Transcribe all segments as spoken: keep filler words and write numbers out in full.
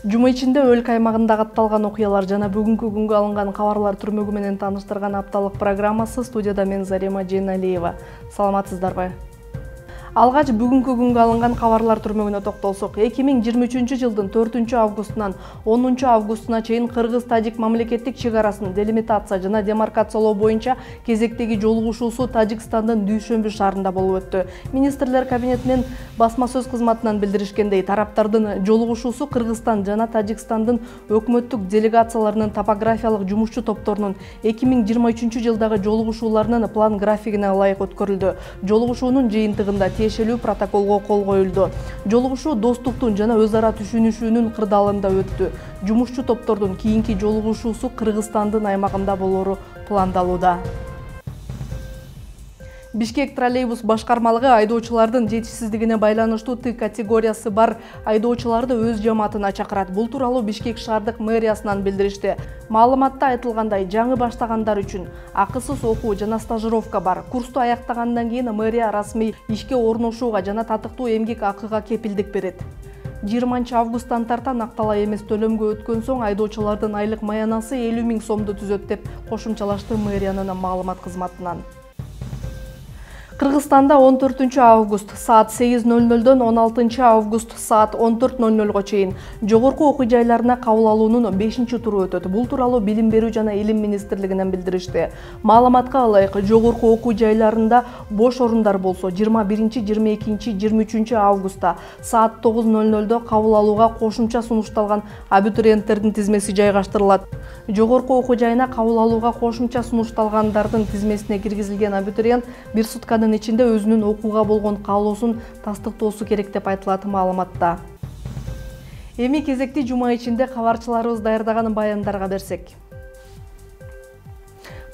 Жума ичинде өлкө аймагында катталган окуялар жана бүгүнкү күнгө алынган кабарлар түрмөгү менен тааныштырган апталык программасы. Студияда мен Зарема Жейналиева. Саламатсыздарбы? Алгач бүгүнкү күнгө алынган кабарлар түрмөгүнө токтолсок, эки миң жыйырма үчүнчү жылдын төртүнчү августунан онунчу августуна чейин Кыргыз-Тажик мамлекеттик чек арасын делимитация жана демаркациялоо боюнча кезектеги жолугушуусу Тажикстандын Дүйшөмбү шаарында болуп өттү. Министрлер кабинетинин басма сөз кызматынан билдиришкендей, тараптардын жолугушуусу Кыргызстан жана Тажикстандын өкмөттүк делегацияларынын топографиялык жумушчу топторунун эки миң жыйырма үчүнчү жылдагы жолугушууларынын план графигине ылайык өткөрүлдү. Жолугушуунун жыйынтыгында тиешелүү протоколго кол коюлду. Жолугушуу достуктун жана өз ара түшүнүшүүнүн кырдаалында өттү. Жумушчу топтордун кийинки жолугушуусу Кыргызстандын аймагында болору пландалууда. Бишкек троллейбус башкармалыгы айдоочулардын жетишсиздигине байланыштуу Т категориясы бар айдоочуларды өз жамаатына чакырат. Бул тууралуу Бишкек шаардык мэриясынан билдиришти. Маалыматта айтылгандай, жаңы баштагандар үчүн акысыз окуу жана стажировка бар. Курсту аяктагандан кийин мэрия расмий ишке орношууга жана татыктуу эмгек акыга кепилдик берет. жыйырманчы августтан тарта акталай эмес төлөмгө өткөн соң айдоочулардын айлык маянасы элүү миң сомду түзөт деп кошумчалашты мэриянын маалымат кызматынан. Кыргызстанда он төртүнчү август саат сегиз ноль нольдон он алтынчы август саат он төрт ноль нольго чейин жогорку окуу жайларына кабыл алуунун бешинчи туру өтөт. Бул тууралуу Билим берүү жана Илим министрлигинен билдиришти. Маалыматка ылайык, жогорку окуу жайларында бош орундар болсо жыйырма биринчи, жыйырма экинчи, жыйырма үчүнчү августта саат тогуз ноль нольдо кабыл алууга кошумча сунушталган абитуриенттердин тизмеси жайгаштырылат. Жогорку окуу жайына кабыл алууга кошумча сунушталгандардын тизмесине киргизилген абитуриент бир сутканын ичинде өзүнүн окууга болгон каалоосун тастыктоосу керек деп айтылат маалыматта. Эми кезекти жума ичинде кабарчыларыбыз даярдаган баяндарга берсек.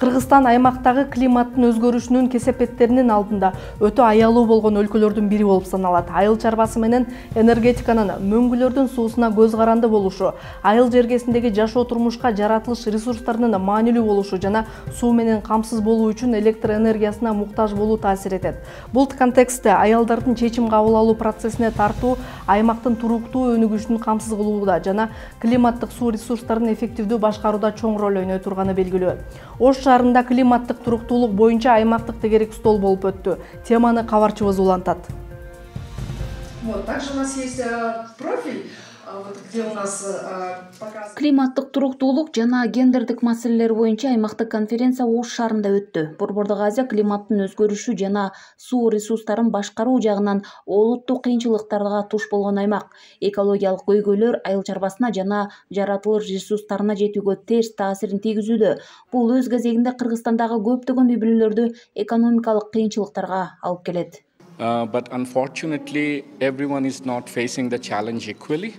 Кыргызстан аймактагы климаттын өзгөрүшүнүн кесепеттеринин алдында өтө аялуу болгон өлкөлөрдүн бири болуп саналат. Айыл чарбасы менен энергетиканын, мөңгүлөрдүн суусуна көз каранды болушу, айыл жергесиндеги жашоо турмушка жаратылыш ресурстарынын маанилүү болушу жана суу менен камсыз болуу үчүн электр энергиясына муктаж болуу таасир этет. Бул контекстте аялдардын чечим кабыл алуу процессине тартуу аймактын туруктуу өнүгүшүн камсыз кылууда жана климаттык суу ресурстарын эффективдүү башкарууда чоң роль ойной турганы белгилүү. Ош шаарында климаттык туруктуулук боюнча аймактык тегерек стол болуп өттү. Теманы кабарчыбыз улантат. Вот, также у нас есть профиль, вот, где у нас показывает... Климаттык туруктуулук жана гендердик маселелер боюнча аймактык конференция Ош шаарында өттү. Борбордук Азия климаттын өзгөрүшү жана суу ресурстарын башкаруу жагынан олуттуу кыйынчылыктарга туш болгон аймак. Экологиялык көйгөйлөр айыл чарбасына жана жаратылыш ресурстарына жетүүгө терс таасирин тийгизүүдө. Бул өз кезегинде Кыргызстандагы көптөгөн үй-бүлөлөрдү экономикалык кыйынчылыктарга алып келет. Uh, but unfortunately, everyone is not facing the challenge equally.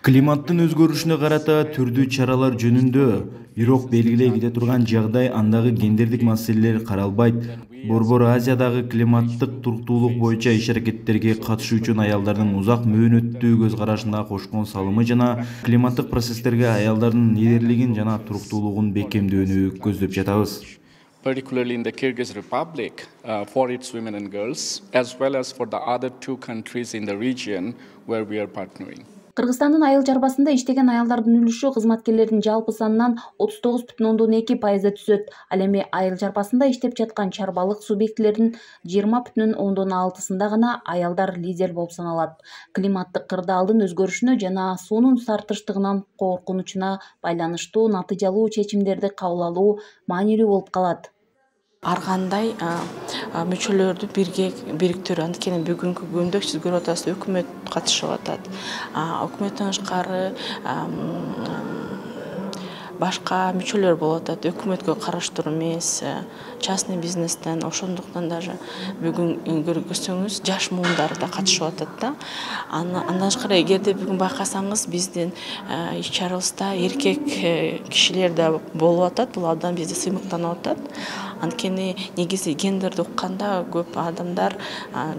Климаттын өзгөрүшүнө карата түрдүү чаралар жөнүндө бирок белгилей кете турган жагдай андагы гендердик маселелер каралбайт. Борбор Азиядагы климаттык туруктуулук боюнча иш-аракеттерге катышуу үчүн аялдардын узак мөөнөттүү көз карашына кошкон салымы жана климаттык процесстерге аялдардын лидерлигин жана туруктуулугун бекемдөөнү көздөп жатабыз. Particularly in the Kyrgyz Republic, uh, for its women and girls, as well as for the other two countries in the region where we are partnering. Кыргызстандын айыл чарбасында иштеген аялдардын үлүшү кызматкерлердин жалпы санынан отуз тогуз бүтүн ондон эки пайызды түзөт. Ал эми айыл чарбасында иштеп жаткан чарбалык субъектилердин жыйырма бүтүн ондон алтысында гана аялдар лидер болуп саналат. Климаттык кырдаалдын өзгөрүшүнө жана суунун тартыштыгынан коркунучуна байланыштуу натыйжалуу чечимдерди кабыл алуу маанилүү болуп калат. Ар кандай мүчөлөрдү бирге бириктирүү. Анткени бүгүнкү күндө сиз көрүп атасыз, өкмөт катышып атат. Өкмөттөн тышкары башка мүчөлөр болуп атат. Өкмөткө караштуу эмес, частный бизнестен, ошондуктан даже бүгүн көрсөңүз жаш муундар да катышып атат да. Андан тышкары эгерде бүгүн байкасаңыз, биздин иш-чарабызда эркек кишилер да болуп атат. Бул абдан бизди сыймыктанып атат. Анткени негизи гендерди укканда көп адамдар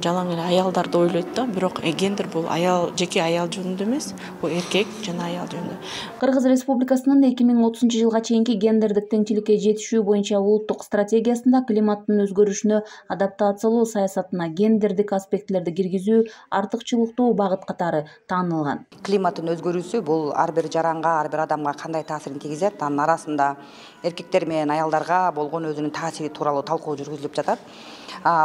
жалаң эле аялдарды ойлойт да, бирок гендер бул аял, жеке аял жөнүндө эмес, бул эркек жана аял жөнүндө. Кыргыз Республикасынын эки миң отузунчу жылга чейинки гендердик теңчиликке жетишүү боюнча улуттук стратегиясында климаттын өзгөрүшүнө адаптациялоо саясатына гендердик аспектилерди киргизүү артыкчылыктуу багыт катары таанылган. Климаттын өзгөрүүсү бул ар бир жаранга, ар бир адамга кандай таасирин тийгизет, анын арасында эркектер менен аялдарга болгон өзүнүн таасири тууралуу талкуу жүргүзүлүп жатат.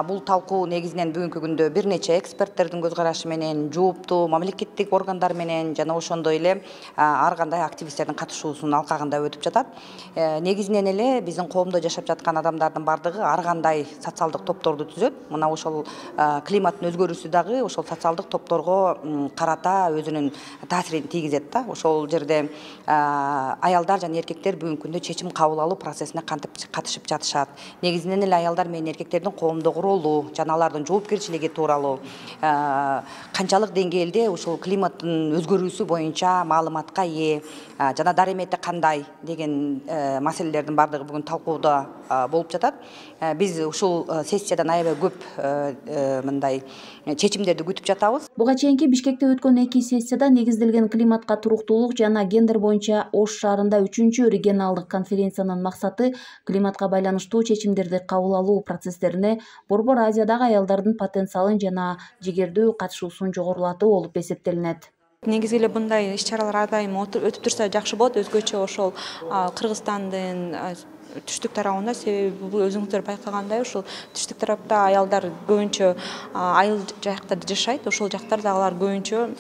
Бул талкуу негизинен бүгүнкү күндө бир нече эксперттердин көз карашы менен, жооптуу мамлекеттик органдар менен жана ошондой эле ар кандай активисттердин катышуусунун алкагында өтүп жатат. Негизинен эле биздин коомдо жашап жаткан адамдардын бардыгы ар кандай социалдык топторду түзөт. Мына ошол климаттын өзгөрүүсү дагы ошол социалдык топторго карата өзүнүн таасирин тийгизет да. Ошол жерде аялдар жана эркектер бүгүнкү күндө чечим кабыл алуу процессине кантип катышып жатышат. Негизинен эле аялдар менен эркектердин коомдогу ролу жана алардын жоопкерчилиги тууралуу канчалык деңгээлде ушул климаттын өзгөрүүсү боюнча маалыматка ээ жана даремети кандай деген маселелердин бардыгы бүгүн талкууда болуп жатат. Биз ушул сессиядан аябай көп мындай чечимдерди күтүп жатабыз. Буга чейинки Бишкекте өткөн эки сессияда негизделген климатка туруктуулук жана гендер боюнча Ош шаарында үчүнчү регионалдык конференциянын максаты климатка байланыштуу чечимдерди кабыл алуу процесстерине Борбор Азиядагы аялдардын потенциалын жана жигердүү катышуусун жогорулатуу болуп эсептелинет. Негизи эле мындай иш-чаралар ар дайым өтүп турса жакшы болот, өзгөчө ошол Кыргызстандын түштүк тарабында, себеби бул өзүңүздөр байкагандай ушул түштүк тарапта аялдар көбүнчө айыл жактарда жашайт, ошол жактарда алар көбүнчө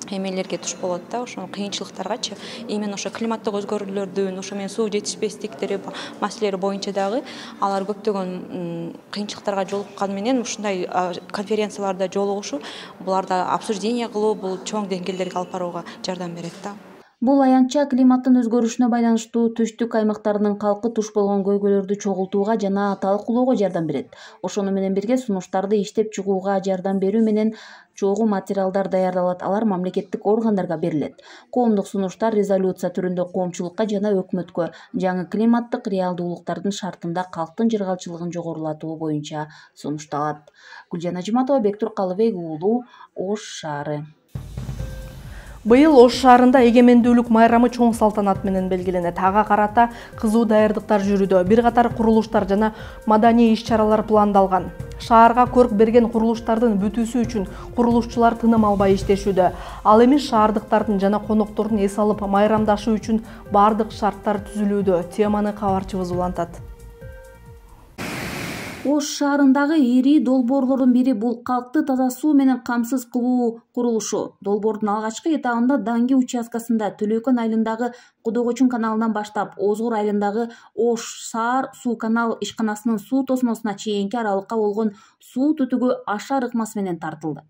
эмелерге туш болот да, ошо кыйынчылыктаргачы. Именно ошо климаттык өзгөрүүлөрдүн, ошо менен суу жетишпестиктери маселелери боюнча дагы алар көптөгөн кыйынчылыктарга жолукканы менен ушундай конференцияларда жолугушуу, буларда обсуждение кылуу, бул чоң деңгээлдерге алып барууга жардам берет да. Бул аянтча климаттын өзгөрүшүнө байланыштуу түштүк аймактарынын калкы туш болгон көйгөйлөрдү чогултууга жана талкуулоого жардам берет. Ошону менен бирге сунуштарды иштеп чыгууга жардам берүү менен чогуу материалдар даярдалат, алар мамлекеттик органдарга берилет. Коомдук сунуштар резолюция түрүндө коомчулукка жана өкмөткө жаңы климаттык реалдуулуктардын шартында калктын жыргалчылыгын жогорулатуу боюнча сунушталат. Гүлжан Ажиматова, Бектур Калыбек уулу, Ош шаары. Быйыл Ош шаарында эгемендүүлүк майрамы чоң салтанат менен белгиленет. Ага карата кызуу даярдыктар жүрүүдө. Бир катар курулуштар жана маданий иш-чаралар пландалган. Шаарга көрк берген курулуштардын бүтүүсү үчүн курулушчулар тыным албай иштешүүдө. Ал эми шаардыктардын жана коноктордун эс алып майрамдашуу үчүн бардык шарттар түзүлүүдө. Теманы кабарчыбыз улантат. Ош шаарындагы ири долбоорлордун бири бул калкты таза суу менен камсыз кылуу курулушу. Долбоордун алгачкы этабында Даңги участкасында Төлөкөн айылындагы Кудогочун каналынан баштап Озгур айылындагы Ош-Саар суу канал ишканасынын суу тосмосуна чейинки аралыкка болгон суу түтүгү ашар ыкмасы менен тартылды.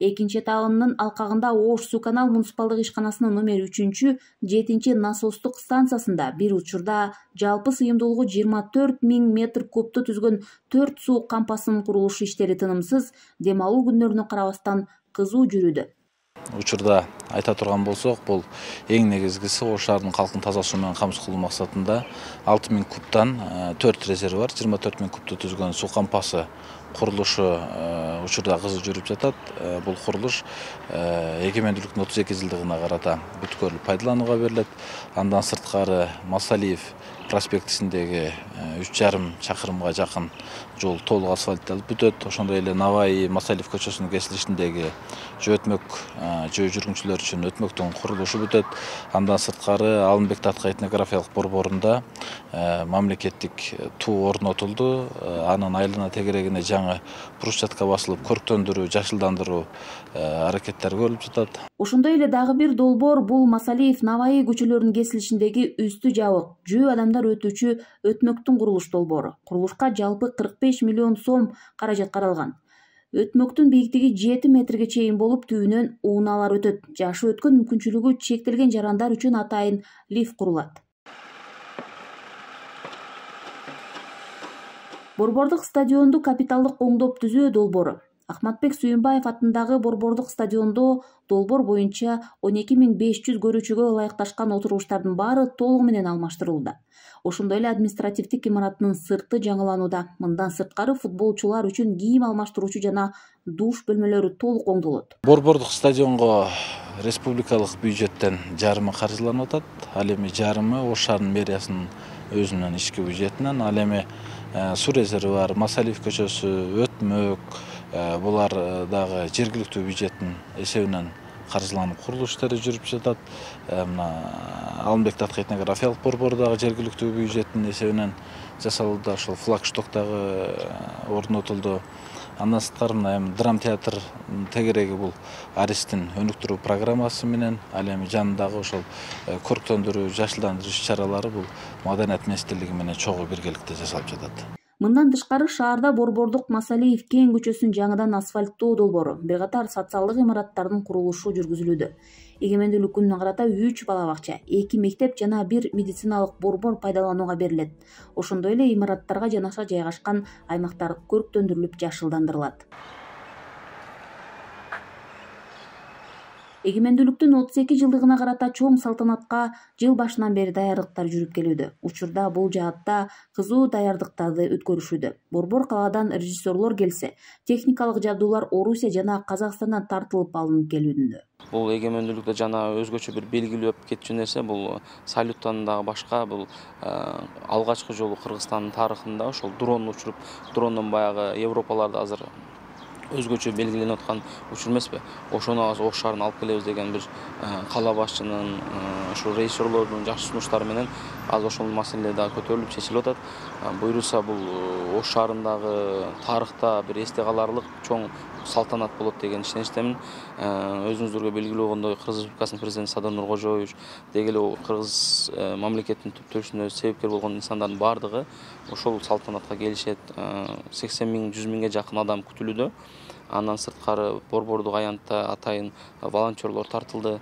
Экинчи этабынын алкагында Ош суу канал муниципалдык ишканасынын номер үчүнчү, жетинчи насостук станциясында бир учурда жалпы сыйымдуулугу жыйырма төрт миң метр кубту түзгөн төрт суу кампасынын курулуш иштери тынымсыз, дем алуу күннөрүнө карабастан кызуу жүрүүдө. Учурда айта турган болсок, бул эң негизгиси Ош шаарынын калкын таза суу менен камсыз кылуу максатында алты миң кубтан төрт резервуар, жыйырма төрт миң кубту түзгөн суу кампасы курулушу учурда кызуу жүрүп жатат. Бул курулуш эгемендүүлүктүн отуз эки жылдыгына карата бүткүлүк пайдаланууга берилет. Андан сырткары Масалиев проспектисиндеги үч жарым чакырымга жакын жол толук асфальтталып бүтөт. Ошондой эле Наваи Масалиев көчөсүнүн кесилишиндеги жөө өтмөк жөө жүргүнчүлөр үчүн өтмөктүн курулушу бүтөт. Андан сырткары Алымбек Таткай этнографиялык борборунда мамлекеттик туу орнотулду. Анын айлана тегерегине жаңы брусчатка басылып, көрктөндүрүү, жашылдандыруу аракеттери көрүлүп жатат. Ошондой эле дагы бир долбоор бул Масалиев Наваи көчөлөрүнүн кесилишиндеги үстү жабык жөө адамдар өтүүчү өтмөктүн курулуш долбоору. Курулушка жалпы кырк беш миллион сом каражат каралган. Өтмөктүн бийиктиги жети метрге чейин болуп, түбүнөн ууналар өтөт. Жашы өткөн мүмкүнчүлүгү чектелген жарандар үчүн атайын лифт курулат. Борбордук стадионду капиталдык оңдоп түзөө долбоору. Ахматбек Сүйүнбаев атындагы Борбордук стадиондо долбоор боюнча он эки миң беш жүз көрүүчүгө ылайыкташкан отургучтардын баары толугу менен алмаштырылууда. Ошондой эле административдик имараттын сырты жаңыланууда. Мындан сырткары футболчулар үчүн кийим алмаштыруучу жана душ бөлмөлөрү толук оңдолот. Борбордук стадионго республикалык бюджеттен жарымы каржыланып атат. Ал эми жарымы Ош шаарынын мэриясынын өзүнүн ички бюджетинен, ал эми суу резерви бар, Масалиев көчөсү, Өтмөк, булар дагы жергиликтүү бюджеттин эсебинен каржыланып курулуш иштери жүрүп жатат. Мына Алмбек Татка этнографиялык борбору дагы жергиликтүү бюджеттин эсебинен жасалууда, ошол флагшток дагы орнотулду. Андан сырткары мына эми драм театр тегереги бул Аристин өнүктүрүү программасы менен, ал эми жанындагы ошол көрктөндүрүү, жашылдандыруу иш-чаралары бул Маданият министрлиги менен чогуу биргеликте жасалып жатат. Мындан тышкары шаарда Борбордук Масалиев кең көчөсүн жаңыдан асфальттоо долбоору, бир катар социалдык имараттардын курулушу жүргүзүлүүдө. Эгемендүүлүк күнүнө карата үч бала бакча, эки мектеп жана бир медициналык борбор пайдаланууга берилет. Ошондой эле имараттарга жанаша жайгашкан аймактар көрктөндүрүлүп, жашылдандырылат. Эгемендүүлүктүн отуз эки жылдыгына карата чоң салтанатка жыл башынан бери даярдыктар жүрүп келүүдө. Учурда бул жаатта кызуу даярдыктарды өткөрүшүүдө. Борбор калаадан режиссерлор келсе, техникалык жабдуулар Орусия жана Казакстандан тартылып алынып келүүдө. Бул эгемендүүлүктө жана өзгөчө бир белгилүү кетчү нерсе бул салюттан дагы башка бул алгачкы жолу Кыргызстандын тарыхында ошол дрон учуруп, дрондон баягы Европаларда азыр өзгөчө белгиленип аткан учур эмеспи? Ошону Ош шаарына алып келебиз деген бир кала башчынын, ошол режиссерлордун жакшы сунуштары менен азыр ошол маселе дагы көтөрүлүп чечилип атат. Буюрса бул Ош шаарындагы тарыхта бир эсте каларлык чоң салтанат болот деген ишеничтемин. Өзүңүздөргө белгилүү болгондой Кыргыз Республикасынын президенти Садыр Нуркожоевич деги эле Кыргыз мамлекетинин түптөлүшүнө себепкер болгон инсандардын баардыгы ошол салтанатка келишет. сексен миң жүз миңге жакын адам күтүлүүдө. Андан сырткары борбордук аянтта атайын волонтерлор тартылды.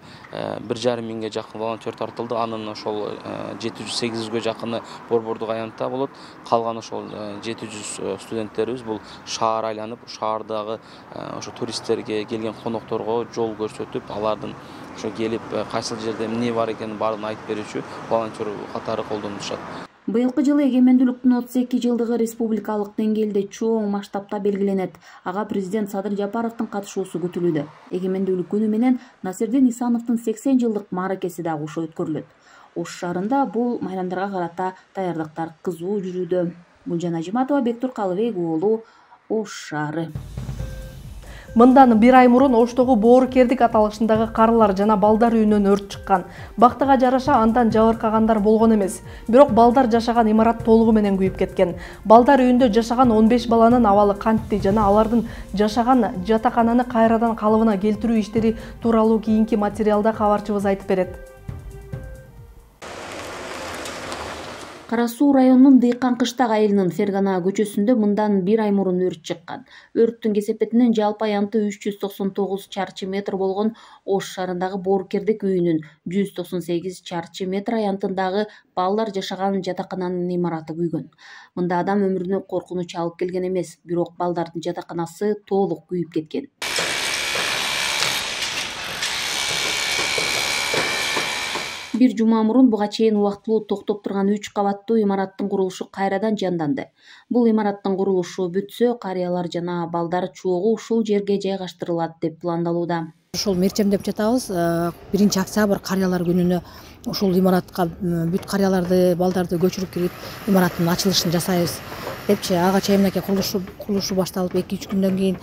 бир жарым миңге жакын волонтер тартылды. Анын ошол жети жүз сегиз жүзгө жакыны борбордук аянтта болот. Калган ошол жети жүз студенттерибиз бул шаар айланып, шаардагы ошо туристтерге, келген конокторго жол көрсөтүп, алардын ошо келип кайсыл жерде эмне бар экенин баарын айтып берүүчү волонтер катары колдонулушат. Быйылкы жылы эгемендүүлүктүн отуз эки жылдыгы республикалык деңгээлде чоң масштабта белгиленет. Ага президент Садыр Жапаровдун катышуусу күтүлүүдө. Эгемендүүлүк күнү менен Насирдин Исановдун сексен жылдык мааракеси да кошо өткөрүлөт. Ош шаарында бул майрамдарга карата даярдыктар кызуу жүрүүдө. Гүлжан Ажиматова, Бектур Калыбек уулу, Ош шаары. Мындан бир ай мурун Оштогу Боорукердик аталышындагы карылар жана балдар үйүнөн өрт чыккан. Бактыга жараша андан жабыркагандар болгон эмес. Бирок балдар жашаган имарат толугу менен күйүп кеткен. Балдар үйүндө жашаган он беш баланын абалы кантти жана алардын жашаган жатакананы кайрадан калыбына келтирүү иштери тууралуу кийинки материалда кабарчыбыз айтып берет. Кара Суу районунун Дыйкан Кыштак айылынын Фергана көчөсүндө мындан бир ай мурун өрт чыккан. Өрттүн кесепетинен жалпы аянты үч жүз токсон тогуз чарчы метр болгон Ош шаарындагы Боорукердик үйүнүн жүз токсон сегиз чарчы метр аянтындагы балдар жашаган жатакананын имараты күйгөн. Мында адам өмүрүнө коркунуч алып келген эмес, бирок балдардын жатаканасы толук күйүп кеткен. Бир жума мурун буга чейин убактылуу токтоп турган үч кабаттуу имараттын курулушу кайрадан жанданды. Бул имараттын курулушу бүтсө, карыялар жана балдар чогуу ушул жерге жайгаштырылат деп пландалууда. Ошол мерчемдеп жатабыз. биринчи октябрь карыялар күнүнө ушул имаратка бүт карыяларды, балдарды көчүрүп кирип, имараттын ачылышын жасайбыз депчи. Ага чейин мынакей курулушу курулушу башталып эки үч күндөн кийин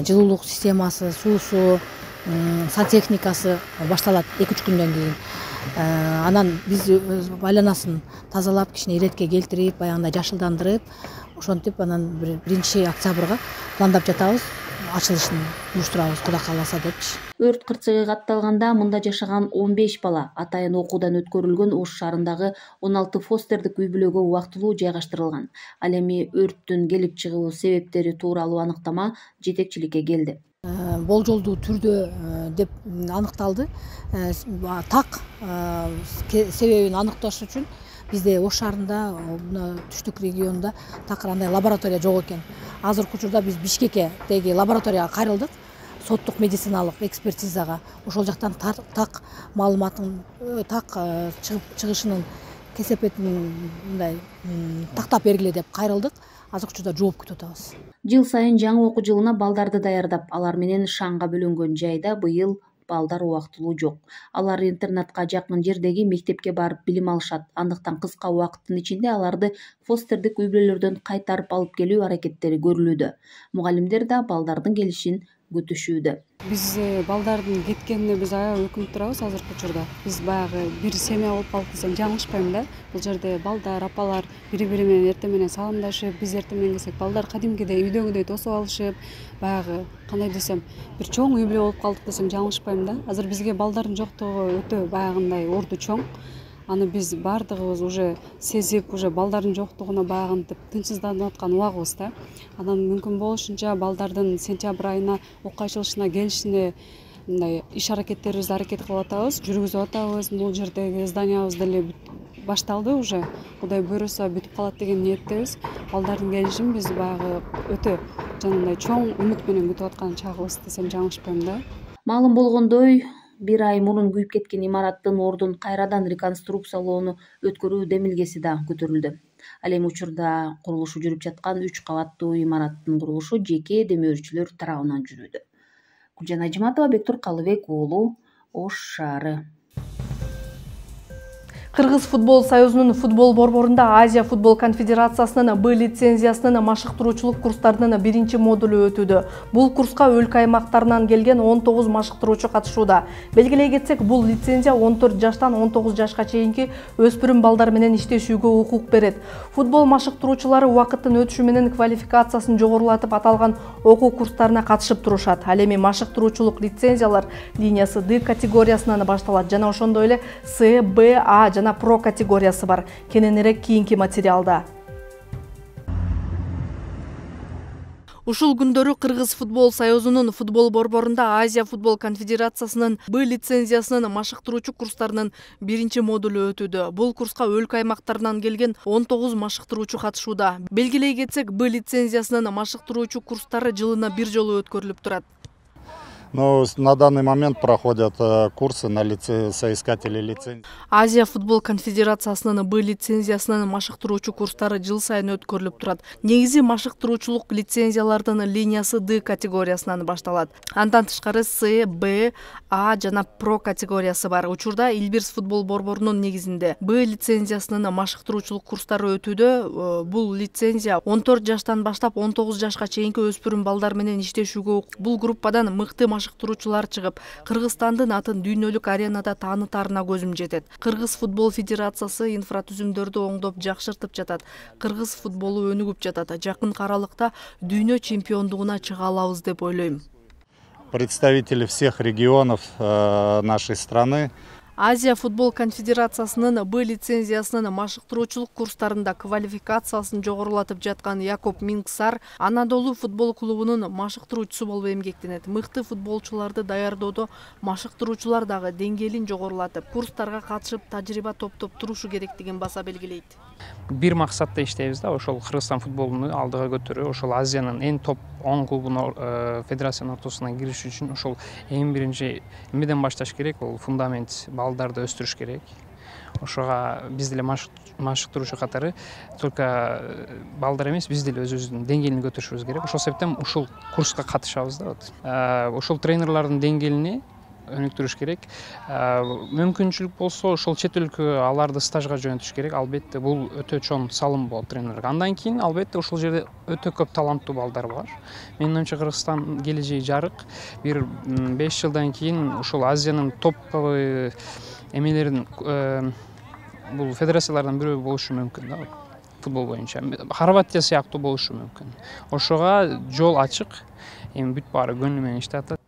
жылуулук системасы, суусу, сантехникасы башталат эки үч күндөн кийин. Анан биз айланасын тазалап, кичине иретке келтирип, баягындай жашылдандырып, ошентип анан биринчи октябрга пландап жатабыз. Ачылышын уюштурабыз, Кудай кааласа депчи. Өрт кырсыгы катталганда мында жашаган он беш бала атайын окуудан өткөрүлгөн Ош шаарындагы он алты фостердик үй бүлөгө убактылуу жайгаштырылган. Ал эми өрттүн келип чыгуу себептери тууралуу аныктама жетекчиликке келди. Болжолдуу түрдө деп аныкталды. Так себебин аныкташ үчүн бизде Ош шаарында түштүк регионунда такыр андай лаборатория жок экен. Азыркы учурда биз Бишкектеги лабораторияга кайрылдык, соттук медициналык экспертизага. Ошол жактан так маалыматтын так чыгышынын кесепетин мындай тактап бергиле деп кайрылдык. Азыркы учурда жооп күтүп атабыз. Жыл сайын жаңы окуу жылына балдарды даярдап, алар менен шаңга бөлөнгөн жайда быйыл балдар убактылуу жок. Алар интернатка жакын жердеги мектепке барып билим алышат. Андыктан кыска убакыттын ичинде аларды фостердик үй-бүлөлөрдөн кайтарып алып келүү аракеттери көрүлүүдө. Мугалимдер да балдардын келишин күтүшүүдө. Биз балдардын кеткенине биз аябай өкүнүп турабыз азыркы учурда. Биз баягы бир семья болуп калдык десем жаңылышпайм да. Бул жерде балдар, апалар бири-бири менен эртең менен саламдашып, биз эртең менен келсек балдар кадимкидей үйдөгүдөй тосуп алышып, баягы кандай десем, бир чоң үй бүлө болуп калдык десем жаңылышпайм да. Азыр бизге балдардын жоктугу өтө баягындай орду чоң. Аны биз бардыгыбыз уже сезип, уже балдардын жоктугуна баягынтип тынчсызданып аткан убагыбыз да. Анан мүмкүн болушунча балдардын сентябрь айына окуя ачылышына келишине мындай иш аракеттерибизди аракет кылып атабыз, жүргүзүп атабыз. Бул жердеги зданиябыз деле башталды уже. Кудай буйруса бүтүп калат деген ниеттебиз. Балдардын келишин биз баягы өтө жанагындай чоң үмүт менен күтүп аткан чагыбыз десем жаңылышпайм да. Маалым болгондой, бир ай мурун күйүп кеткен имараттын ордун кайрадан реконструкциялоону өткөрүү демилгеси да көтөрүлдү. Ал эми учурда курулушу жүрүп жаткан үч кабаттуу имараттын курулушу жеке демөөрчүлөр тарабынан жүрүүдө. Гүлжан Ажиматова, Бектур Калыбек уулу, Ош шаары. Кыргыз футбол союзунун футбол борборунда Азия футбол конфедерациясынын Б лицензиясынын машыктыруучулук курстарынын биринчи модулу өтүүдө. Бул курска өлкө аймактарынан келген он тогуз машыктыруучу катышууда. Белгилей кетсек, бул лицензия он төрт жаштан он тогуз жашка чейинки өспүрүм балдар менен иштешүүгө укук берет. Футбол машыктыруучулары убакыттын өтүшү менен квалификациясын жогорулатып аталган окуу курстарына катышып турушат. Ал эми машыктыруучулук лицензиялар линиясы Д категориясынан башталат жана ошондой эле С, Б, А жана Про категориясы бар. Кененирээк кийинки материалда. Ушул күндөрү Кыргыз футбол союзунун футбол борборунда Азия футбол конфедерациясынын Б лицензиясынын машыктыруучу курстарынын биринчи модулу өтүүдө. Бул курска өлкө аймактарынан келген он тогуз машыктыруучу катышууда. Белгилей кетсек, Б лицензиясынын машыктыруучу курстары жылына бир жолу өткөрүлүп турат. Но на данный момент проходят курсы на лице... соискателей лицензий. Азия футбол конфедерациясынын Б лицензиясынын машыктыруучу курстары жыл сайын өткөрүлүп турат. Негизи машыктыруучулук лицензиялардын линиясы Д категориясынан башталат. Андан тышкары С, Б, А жана Про категориясы бар. Учурда Илбирс футбол борборунун негизинде Б лицензиясынын машыктыруучулук курстары өтүүдө. Бул лицензия он төрт жаштан баштап он тогуз жашка чейинки өспүрүм балдар менен иштешүүгө бул группадан мыкты машыктыруучулар чыгып, Кыргызстандын атын дүйнөлүк аренада таанытаарына көзүм жетет. Кыргыз футбол федерациясы инфратүзүмдөрдү оңдоп жакшыртып жатат. Кыргыз футболу өнүгүп жатат. Жакын аралыкта дүйнө чемпиондугуна чыга алабыз деп ойлойм. Представители всех регионов нашей страны. Азия футбол конфедерациясынын Б лицензиясынын машыктыруучулук курстарында квалификациясын жогорулатып жаткан Якоб Мингсар Анадолу футбол клубунун машыктыруучусу болуп эмгектенет. Мыкты футболчуларды даярдоодо машыктыруучулар дагы деңгээлин жогорулатып, курстарга катышып, тажрыйба топтоп турушу керектигин баса белгилейт. Бир максатта иштейбиз да, ошол Кыргызстан футболун алдыга көтөрүү, ошол Азиянын эң топ он клубунун федерациянын ортосуна кириш үчүн ошол эң биринчи эмеден башташ керек, бул фундамент, балдарды өстүрүш керек. Ошого биз деле машыктыруучу катары только балдар эмес, биз деле өзүбүздүн деңгээлин көтөрүшүбүз керек. Ошол себептен ушул курска катышабыз да. Ошол тренерлардын деңгээлини өнүктүрүш керек. Мүмкүнчүлүк болсо ошол чет өлкө аларды стажга жөнөтүш керек. Албетте бул өтө чоң салым болот тренерге. Андан кийин албетте ошол жерде өтө көп таланттуу балдар бар. Менин оюмча Кыргызстан келечеги жарык. Бир беш жылдан кийин ошол Азиянын топовый эмелерин бул федерациялардан бирөө болушу мүмкүн да. Футбол боюнча Хорватия сыяктуу болушу мүмкүн. Ошого жол ачык. Эми бүт баары көңүл менен иштеп атат.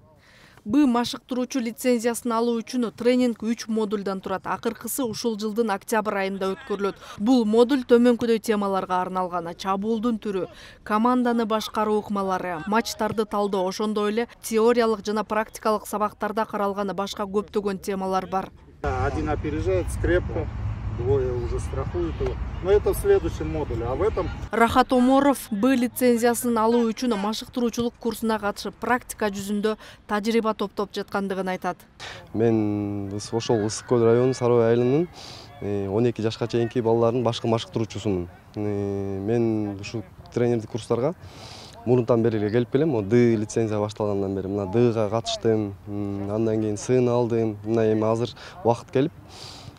Б машыктыруучу лицензиясын алуу үчүн тренинг үч модулдан турат. Акыркысы ушул жылдын октябрь айында өткөрүлөт. Бул модуль төмөнкүдөй темаларга арналган: чабуулдун түрү, команданы башкаруу ыкмалары, матчтарды талдоо, ошондой эле теориялык жана практикалык сабактарда каралган башка көптөгөн темалар бар. Один опережает скрепку, двое уже страхуют его. Но это в следующем модуле, а в этом... Рахат Оморов Б лицензиясын алуу үчүн машыктыруучулук курсуна катышып, практика жүзүндө тажрыйба топтоп жаткандыгын айтат. Мен ошол Ысык көл району Сарой айылынын он эки жашка чейинки балдардын башкы машыктыруучусумун. Мен ушул тренердик курстарга мурунтан бери эле келип келем. Д лицензия башталгандан бери мына Дга катыштым, андан кийин Сны алдым. Мына эми азыр убакыт келип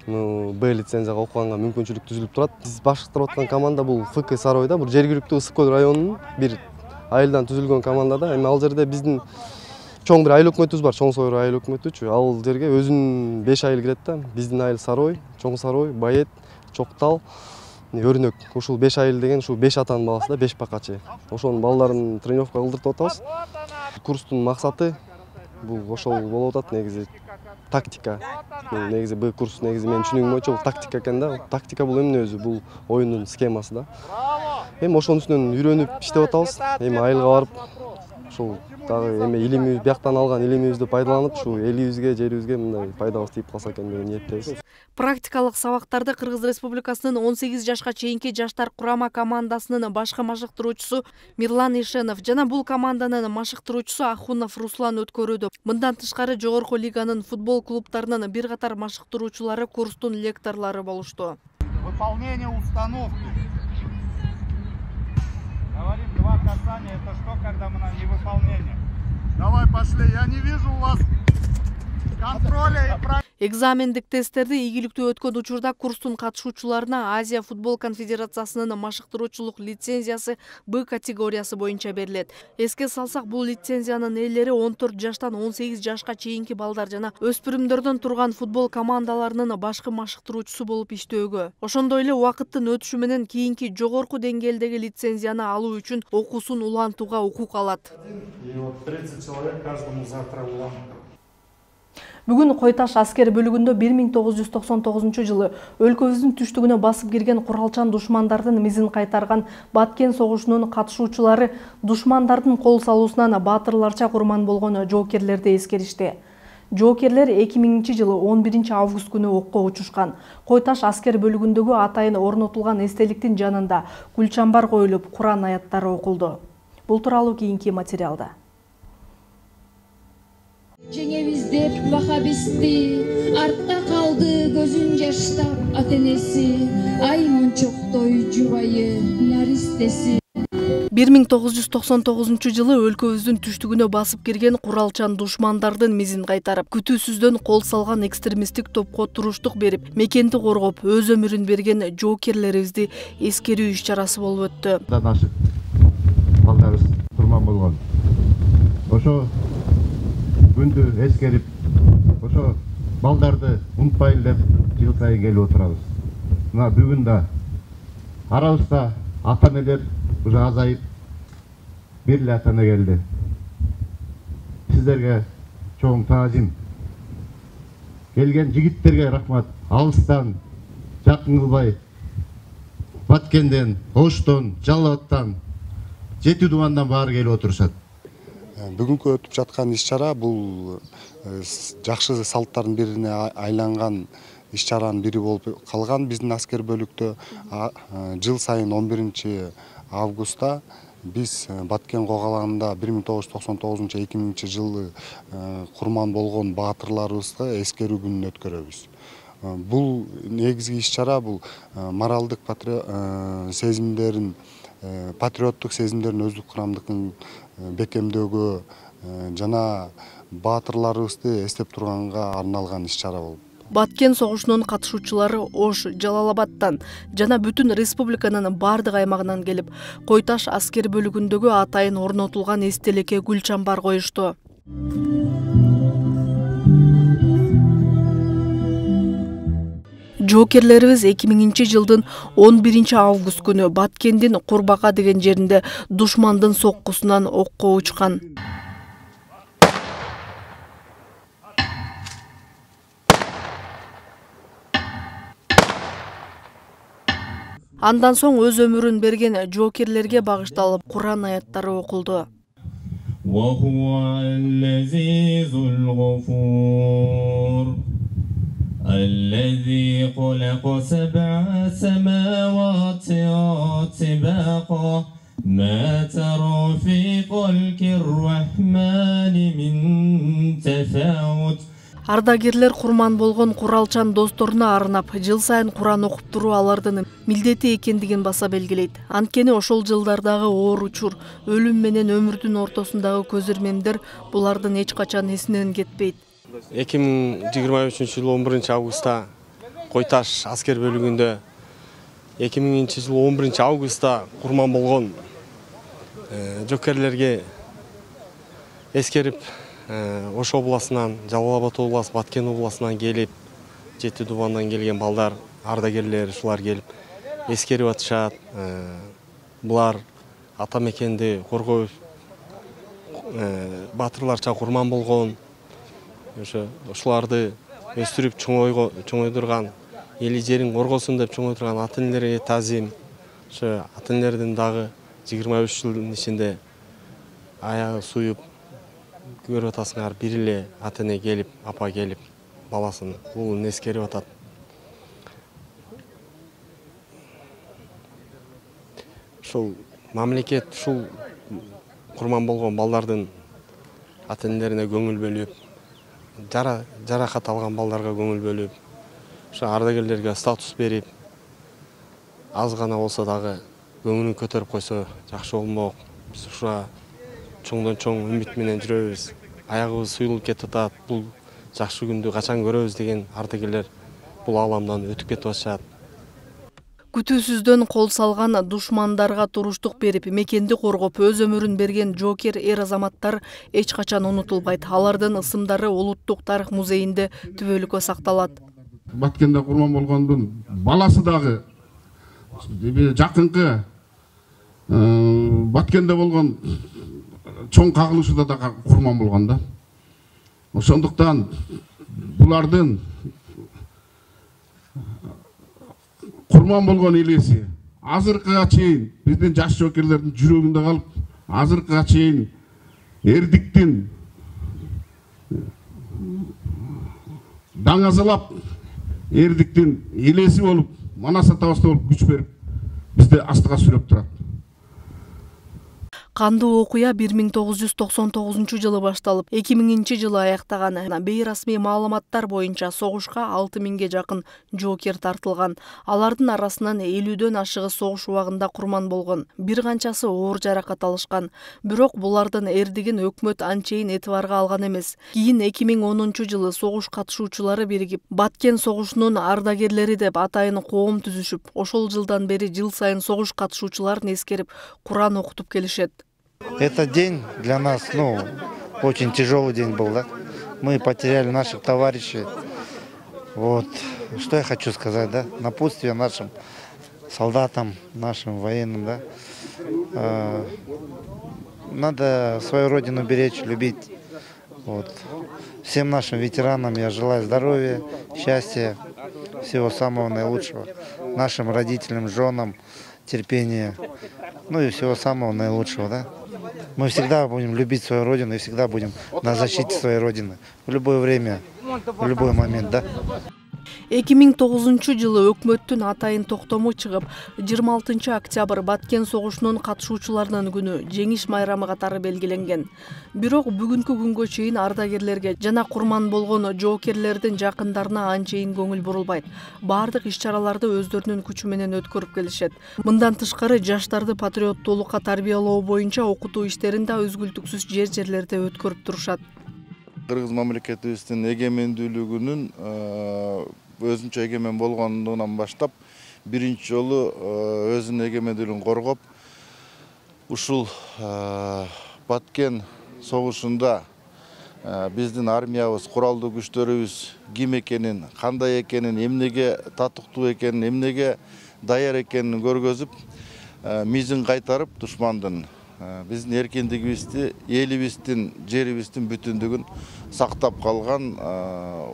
Б лицензияга окуганга мүмкүнчүлүк түзүлүп турат. Биз башкарып аткан команда бул Ф К Саройда, бул жергиликтүү Ысык көл районунун бир айылдан түзүлгөн команда да. Эми ал жерде биздин чоң бир айыл өкмөтүбүз бар, Чоң Сойру айыл өкмөтүчү. Ал жерге өзүнүн беш айыл кирет да. Биздин айыл Сарой, Чоң Сарой, Байет, Чоктал, Өрнөк. Ушул беш айыл деген ушул беш атанын баласы да, беш бакачы. Ошонун балдарын тренировка кылдыртып атабыз. Курстун максаты бул ошол болуп атат негизи. Тактика. Негизи Б курс негизи менин түшүнүгүм боюнча бул тактика экен да. Тактика бул эмне өзү? Бул оюндун схемасы да. Эми ошонун үстүнөн үйрөнүп иштеп атабыз. Эми айылга барып ушул дагы эми илимибиз бияктан алган илимибизди пайдаланып, ушу элибизге, жерибизге мындай пайдабыз тийип калса экен деген ниеттебиз. Практикалык сабактарды Кыргыз Республикасынын он сегиз жашка чейинки жаштар курама командасынын башкы машыктыруучусу Мирлан Ишенов жана бул команданын машыктыруучусу Ахунов Руслан өткөрүүдө. Мындан тышкары жогорку лиганын футбол клубтарынын бир катар машыктыруучулары курстун лекторлору болушту. Выполнение установки. Говорим, два касания, это что, когда мы на невыполнение? Давай, пошли, я не вижу у вас контроля и практики. Экзамендик тесттерди ийгиликтүү өткөн учурда курстун катышуучуларына Азия футбол конфедерациясынын машыктыруучулук лицензиясы Б категориясы боюнча берилет. Эске салсак, бул лицензиянын ээлери он төрт жаштан он сегиз жашка чейинки балдар жана өспүрүмдөрдөн турган футбол командаларынын башкы машыктыруучусу болуп иштөөгө. Ошондой эле убакыттын өтүшү менен кийинки жогорку деңгээлдеги лицензияны алуу үчүн окуусун улантууга укук алат. И вот тридцать человек каждому завтра улантат. Бүгүн Койташ аскер бөлүгүндө бир миң тогуз жүз токсон тогузунчу жылы өлкөбүздүн түштүгүнө басып кирген куралчан душмандардын мизин кайтарган Баткен согушунун катышуучулары душмандардын кол салуусунан баатырларча курман болгон жоокерлерди эскеришти. Жоокерлер эки миңинчи жылы он биринчи август күнү окко учушкан. Койташ аскер бөлүгүндөгү атайын орнотулган эстеликтин жанында гүлчамбар коюлуп, Куран аяттары окулду. Бул тууралуу кийинки материалда. Жеңебиз деп вахабисти, артта калды көзүн жаштап ата энеси, ай мончоктой жубайы наристеси. бир миң тогуз жүз токсон тогузунчу жылы өлкөбүздүн түштүгүнө басып кирген куралчан душмандардын мизин кайтарып, күтүүсүздөн кол салган экстремисттик топко туруштук берип, мекенди коргоп, өз өмүрүн берген жоокерлерибизди эскерүү иш-чарасы болуп өттү. Ашык балдарыбыз курман болгон. Ошо күндү эскерип, ошо балдарды унутпайлы деп жыл сайын келип отурабыз. Мына бүгүн да арабызда ата-энелер уже азайып, бир эле ата-эне келди. Сиздерге чоң таазим. Келген жигиттерге рахмат. Алыстан, жакын кылбай, Баткенден, Оштон, Жалал Абадтан, Жети Дубандан баары келип отурушат. Бүгүнкү өтүп жаткан иш-чара бул жакшы салттардын бирине айланган иш-чаранын бири болуп калган биздин аскер бөлүктө. Жыл сайын он биринчи августта биз Баткен когаланында бир миң тогуз жүз токсон тогузунчу эки миңинчи жылы курман болгон баатырларыбызга эскерүү күнүн өткөрөбүз. Бул негизги иш-чара бул моралдык сезимдерин, патриоттук сезимдерин, өздүк курамдыкын бекемдөөгө жана баатырларыбызды эстеп турганга арналган иш-чара болуп. Баткен согушунун катышуучулары Ош, Жалал Абадтан жана бүтүн республиканын бардык аймагынан келип, Койташ аскер бөлүгүндөгү атайын орнотулган эстеликке гүлчамбар коюшту. Жоокерлерибиз эки миңинчи жылдын он биринчи август күнү Баткендин Курбака деген жеринде душмандын соккусунан окко учкан. Андан соң өз өмүрүн берген жоокерлерге багышталып Куран аяттары окулду. الذي خلق سبع سماوات طباقا ما ترى في خلق الرحمن من تفاوت. Ардагерлер курман болгон куралчан досторуна арнап жыл сайын Куран окуп туруу алардын милдети экендигин баса белгилейт. Анткени ошол жылдардагы оор учур, өлүм менен өмүрдүн ортосундагы көз ирмемдер булардын эч качан эсинен кетпейт. эки миң жыйырма үчүнчү жылы он биринчи августта Кой Таш аскер бөлүгүндө эки миңинчи жылы он биринчи августта курман болгон жокерлерге эскерип Ош областынан, Жалал Абад обласы, Баткен областынан келип, Жети Дубандан келген балдар, ардагерлер ушулар келип эскерип атышат. Булар ата мекенди коргоо батырларча курман болгон. Ошо ушуларды өстүрүп чоңойдурган, эли жерин коргосун деп чоңойдурган ата энелерге таазим. Ошо ата энелердин дагы жыйырма үч жылдын ичинде аягы суюп көрүп атасыңар, бир эле ата эне келип, апа келип, баласын уулун эскерип атат. Ушул мамлекет ушул курман болгон балдардын ата энелерине көңүл бөлүп, жара жаракат алган балдарга көңүл бөлүп, ошо ардагерлерге статус берип, аз гана болсо дагы көңүлүн көтөрүп койсо жакшы болмок. Биз ушуга чоңдон чоң үмүт менен жүрөбүз. Аягыбыз суюлуп кетип атат. Бул жакшы күндү качан көрөбүз деген ардагерлер бул ааламдан өтүп кетип атышат. Күтүүсүздөн кол салган душмандарга туруштук берип, мекенди коргоп, өз өмүрүн берген жокер эр азаматтар эч качан унутулбайт. Алардын ысымдары Улуттук тарых музейинде түбөлүккө сакталат. Баткенде курман болгондун баласы дагы жакынкы Баткенде болгон чоң кагылышында да курман болгон да. Ошондуктан булардын курман болгон элеси азыркыга чейин биздин жаш жокерлердин жүрөгүндө калып, азыркыга чейин эрдиктин даңазалап, эрдиктин элеси болуп, Манас атабызда болуп күч берип, бизди астыга сүрөп турат. Кандуу окуя бир миң тогуз жүз токсон тогузунчу жылы башталып, эки миңинчи жылы аяктаган. Бейрасмий маалыматтар боюнча согушка алты миңге жакын жокер тартылган. Алардын арасынан элүүдөн ашыгы согуш убагында курман болгон. Бир канчасы оор жаракат алышкан. Бирок булардын эрдигин өкмөт анчейин этибарга алган эмес. Кийин эки миң онунчу жылы согуш катышуучулары биригип, Баткен согушунун ардагерлери деп атайын коом түзүшүп, ошол жылдан бери жыл сайын согуш катышуучуларын эскерип, Куран окутуп келишет. Этот день для нас, ну, очень тяжелый день был, да? Мы потеряли наших товарищей. Вот, что я хочу сказать, да? Напутствие нашим солдатам, нашим военным, да? А, надо свою родину беречь, любить. Вот. Всем нашим ветеранам я желаю здоровья, счастья, всего самого наилучшего. Нашим родителям, женам, терпения, ну и всего самого наилучшего, да? Мы всегда будем любить свою родину и всегда будем на защите своей родины. В любое время, в любой момент, да? эки миң тогузунчу жылы өкмөттүн атайын токтому чыгып, жыйырма алтынчы октябрь Баткен согушунун катышуучуларынын күнү, жеңиш майрамы катары белгиленген. Бирок бүгүнкү күнгө чейин ардагерлерге жана курман болгон жоокерлердин жакындарына анчейин көңүл бурулбайт. Бардык иш-чараларды өздөрүнүн күчү менен өткөрүп келишет. Мындан тышкары жаштарды патриоттуулукка тарбиялоо боюнча окутуу иштерин да үзгүлтүксүз жер-жерлерде өткөрүп турушат. Кыргыз мамлекетибиздин эгемендүүлүгүнүн өзүнчө эгемен болгондугунан баштап биринчи жолу өзүнүн эгемендүүлүгүн коргоп, ушул Баткен согушунда биздин армиябыз, куралдуу күчтөрүбүз ким экенин, кандай экенин, эмнеге татыктуу экенин, эмнеге даяр экенин көргөзүп, мизин кайтарып, душмандын биздин эркиндигибизди, элибиздин, жерибиздин бүтүндүгүн сактап калган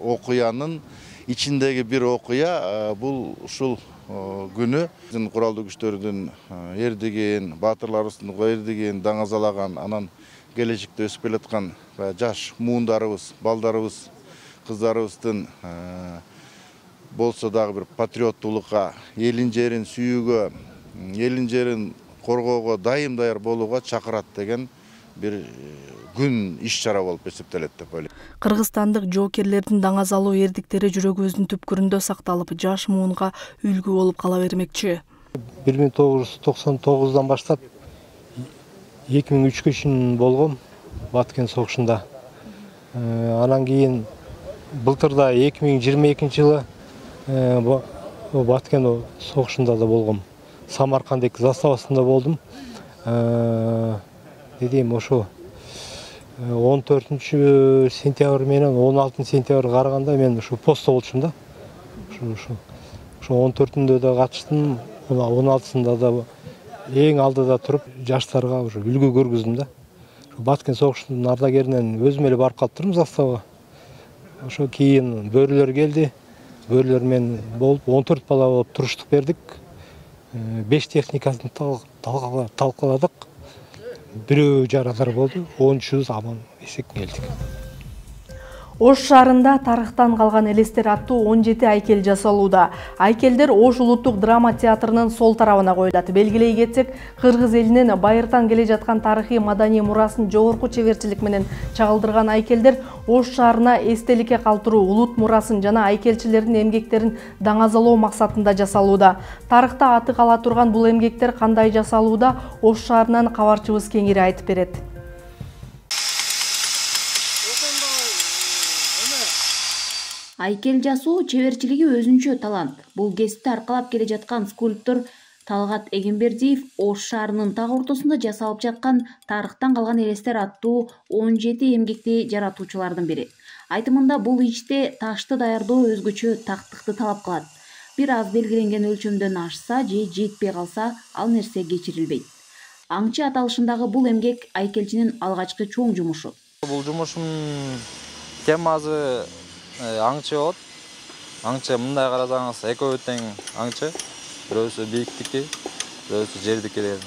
окуянын ичиндеги бир окуя. Бул ушул күнү биздин куралдуу күчтөрдүн эрдигин, баатырларыбыздын эрдигин даңазалаган, анан келечекте өсүп келаткан жаш муундарыбыз, балдарыбыз, кыздарыбыздын болсо дагы бир патриоттуулукка, элин жерин сүйүүгө, элин жерин коргоого дайым даяр болууга чакырат деген бир күн иш-чара болуп эсептелет деп ойлойм. Кыргызстандык жоокерлердин даңазалуу эрдиктери жүрөгүбүздүн түпкүрүндө сакталып, жаш муунга үлгү болуп кала бермекчи. бир миң тогуз жүз токсон тогуздан баштап эки миң үчкө чейин болгом Баткен согушунда. Анан кийин былтырда эки миң жыйырма экинчи жылы Баткен согушунда да болгом. Самаркандык заставасында болдум. Дедейм, ошо он төртүнчү сентябрь менен он алтынчы сентябрь караганда мен ушу постто болчумун да. Ушу ушу он төртүндө да катыштым, он алтысында да эң алдыда туруп жаштарга ушу үлгү көргүздүм да. Баткен согушунун ардагеринен өзүм эле барып калып турдум заставага. Ошо кийин бөрүлөр келди. Бөрүлөр менен болуп он төрт бала болуп туруштук бердик. беш техникасын талкаладык. Бирөө жарадар болду, он үчүбүз аман эсеп келдик. Ош шаарында тарыхтан калган элестер аттуу он жети айкел жасалууда. Айкелдер Ош улуттук драма театрынын сол тарабына коюлат. Белгилей кетсек, кыргыз элинин байыртан келе жаткан тарыхый маданий мурасын жогорку чеберчилик менен чагылдырган айкелдер Ош шаарына эстеликке калтыруу, улут мурасын жана айкелчилердин эмгектерин даңазалоо максатында жасалууда. Тарыхта аты кала турган бул эмгектер кандай жасалууда, Ош шаарынан кабарчыбыз кеңири айтып берет. Айкел жасоо чеберчилиги өзүнчө талант. Бул кесипти аркалап келе жаткан скульптор Талгат Эгембердиев Ош шаарынын так ортосунда жасалып жаткан тарыхтан калган элестер аттуу он жети эмгекти жаратуучулардын бири. Айтымында бул иште ташты даярдоо өзгөчө тактыкты талап кылат. Бир аз белгиленген өлчөмдөн ашса же жетпей калса, ал нерсе кечирилбейт. Аңчы аталышындагы бул эмгек айкелчинин алгачкы чоң жумушу. Бул жумушум темасы аңчы болот. Аңчы мындай карасаңыз экөө тең аңчы. Бирөөсү бийиктики, бирөөсү жердики деген.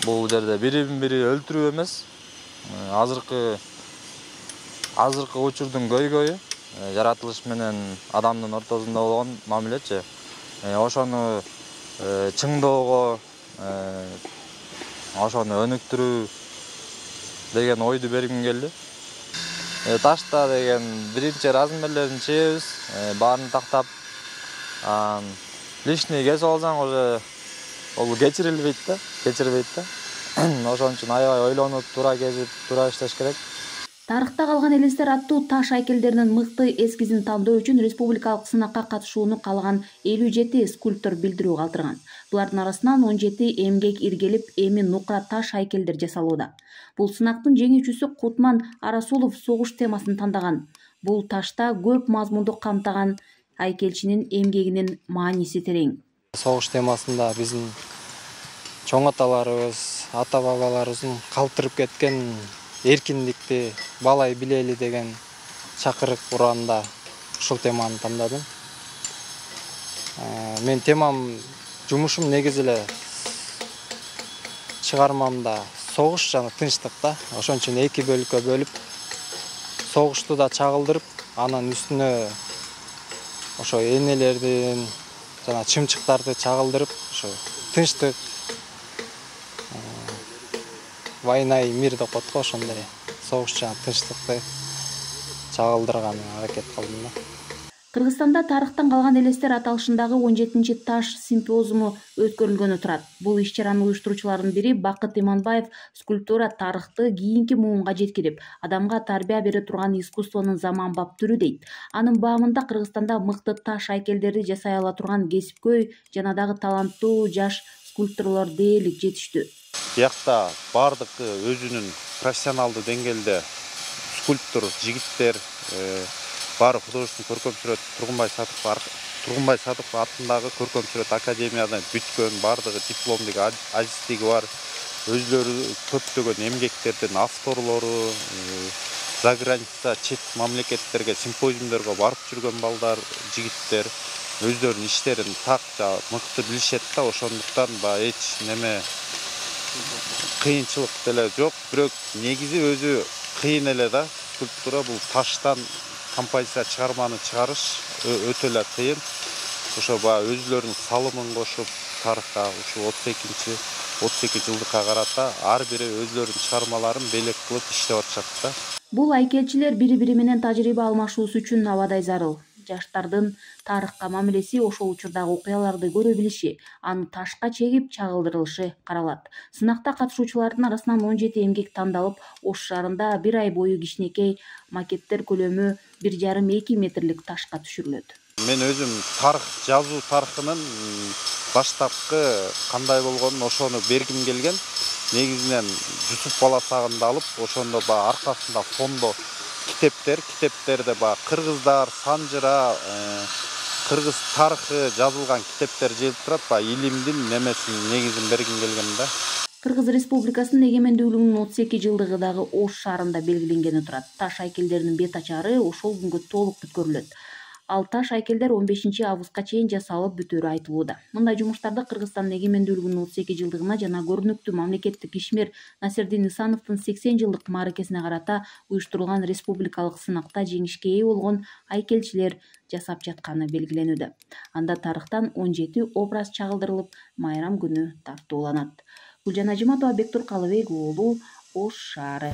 Бул жерде бирин бири өлтүрүү эмес. Азыркы азыркы учурдун көйгөйү жаратылыш менен адамдын ортосунда болгон мамилечи. Ошону чыңдоого, ошону өнүктүрүү деген ойду бергим келди. Ташта деген биринчи размерлерин чебиз, баарын тактап, лишний кесип алсаң уже ол кечирилбейт да, кечирбейт да. Ошон үчүн аябай ойлонуп, туура кесип, туура иштеш керек. Тарыхта калган элестер аттуу таш айкелдеринин мыкты эскизин тандоо үчүн республикалык сынакка катышууну каалаган элүү жети скульптор билдирүү калтырган. Булардын арасынан он жети эмгек иргелип, эми нукра таш айкелдер жасалууда. Бул сынактын жеңүүчүсү Кутман Арасулов согуш темасын тандаган. Бул ташта көп мазмунду камтыган айкелчинин эмгегинин мааниси терең. Согуш темасында биздин чоң аталарыбыз, ата бабаларыбыздын калтырып кеткен эркиндикти балай билели деген чакырык ураанда ушул теманы тандадым. Мен темам, жумушум негизи эле чыгармамда согуш жана тынчтык да. Ошон үчүн эки бөлүккө бөлүп, согушту да чагылдырып, анан үстүнө ошо энелердин жана чымчыктарды чагылдырып, ошо тынчтык, война и мир деп коет го, ошондой согуш жана тынчтыкты чагылдырган аракет кылдым да. Кыргызстанда тарыхтан калган элестер аталышындагы он жетинчи таш симпозиуму өткөрүлгөнү турат. Бул иш-чаранын уюштуруучуларынын бири Бакыт Иманбаев скульптура тарыхты кийинки муунга жеткирип, адамга тарбия бере турган искусствонун заманбап түрү дейт. Анын баамында Кыргызстанда мыкты таш айкелдерди жасай ала турган кесипкөй жана дагы таланттуу жаш скульпторлор дээрлик жетиштүү. Биякта бардыгы өзүнүн профессионалдуу деңгээлде скульптор жигиттер, баары художественный көркөм сүрөт Тургунбай Садыков Тургунбай Садыков атындагы көркөм сүрөт академиядан бүткөн, бардыгы дипломдук азиздиги бар. Өзлөрү көптөгөн эмгектердин авторлору, заграница, чет мамлекеттерге, симпозиумдорго барып жүргөн балдар, жигиттер өздөрүнүн иштерин так мыкты билишет да, ошондуктан баягы эч неме кыйынчылык деле жок, бирок негизи өзү кыйын эле да. Скульптура бул таштан композиция чыгарманы чыгарыш өтө эле кыйын. Ошо баягы өзүлөрүнүн салымын кошуп тарыхка ушу отуз экинчи отуз эки жылдыкка карата ар бири өзүлөрүнүн чыгармаларын белек кылып иштеп атышат да. Бул айкелчилер бири-бири менен тажрыйба алмашуусу үчүн абадай зарыл. Жаштардын тарыхка мамилеси ошол учурдагы окуяларды көрө билиши, аны ташка чегип чагылдырылышы каралат. Сынакта катышуучулардын арасынан он жети эмгек тандалып, Ош шаарында бир ай бою кичинекей макеттер көлөмү бир жарым эки метрлик ташка түшүрүлөт. Мен өзүм тарых жазуу тарыхынын баштапкы кандай болгонун ошону бергим келген. Негизинен Жусуп баласагында алып, ошондо баягы аркасында фондо китептер, китептерде баягы кыргыздар, санжыра, кыргыз тарыхы жазылган китептер желип турат. Баягы илимдин немесин негизин бергим келген да. Кыргыз Республикасынын эгемендүүлүгүнүн отуз эки жылдыгы дагы Ош шаарында белгиленгени турат. Таш айкелдеринин бет ачары ошол күнгө толук бүткөрүлөт. Ал таш айкелдер он бешинчи августка чейин жасалып бүтөөрү айтылууда. Мындай жумуштарды Кыргызстандын эгемендүүлүгүнүн отуз эки жылдыгына жана көрүнүктүү мамлекеттик ишмер Насирдин Исановдун сексен жылдык мааракесине карата уюштурулган республикалык сынакта жеңишке ээ болгон айкелчилер жасап жатканы белгиленүүдө. Анда тарыхтан он жети образ чагылдырылып, майрам күнү тартууланат. Гүлжан Ажиматова, Бектур Калыбек уулу, Ош шаары.